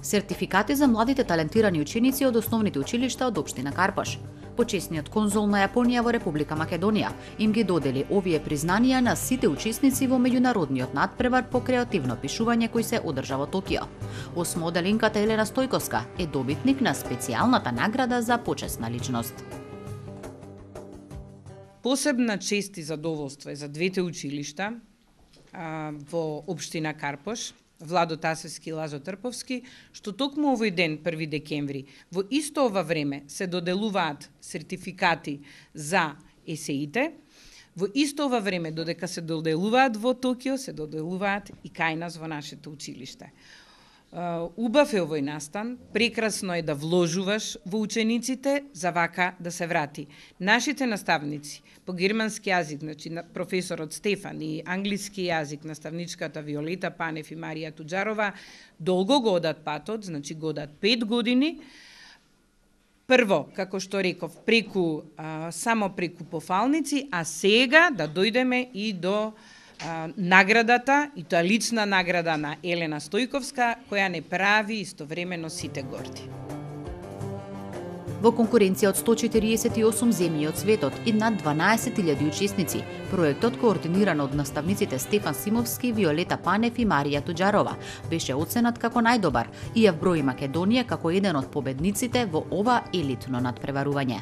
Сертификати за младите талентирани ученици од основните училишта од општина Карпаш. Почесниот конзул на Јапонија во Република Македонија им ги додели овие признанија на сите учесници во меѓународниот надпревар по креативно пишување кој се одржа во Токио. Осмоделинката Елена Стојковска е добитник на специјалната награда за почесна личност. Посебна чест и задоволство е за двете училишта во општина Карпаш, Владо Тасевски и Лазо Трповски, што токму овој ден, 1 декември, во исто ова време се доделуваат сертификати за есеите, во исто ова време, додека се доделуваат во Токио, се доделуваат и кај нас во нашето училиште. Убав е овој настан, прекрасно е да вложуваш во учениците за вака да се врати. Нашите наставници по германски јазик, значи професорот Стефан, и англиски јазик, наставничката Виолета Панев и Марија Туџарова, долго го одат патот, значи го одат 5 години. Прво, како што реков, само преку пофалници, а сега да дојдеме и до наградата, и тоа лична награда на Елена Стојковска, која не прави истовремено сите горди. Во конкуренција од 148 земји од светот и над 12.000 учесници, проектот координиран од наставниците Стефан Симовски, Виолета Панев и Марија Туџарова беше оценет како најдобар и ја вброи Македонија како еден од победниците во ова елитно надпреварување.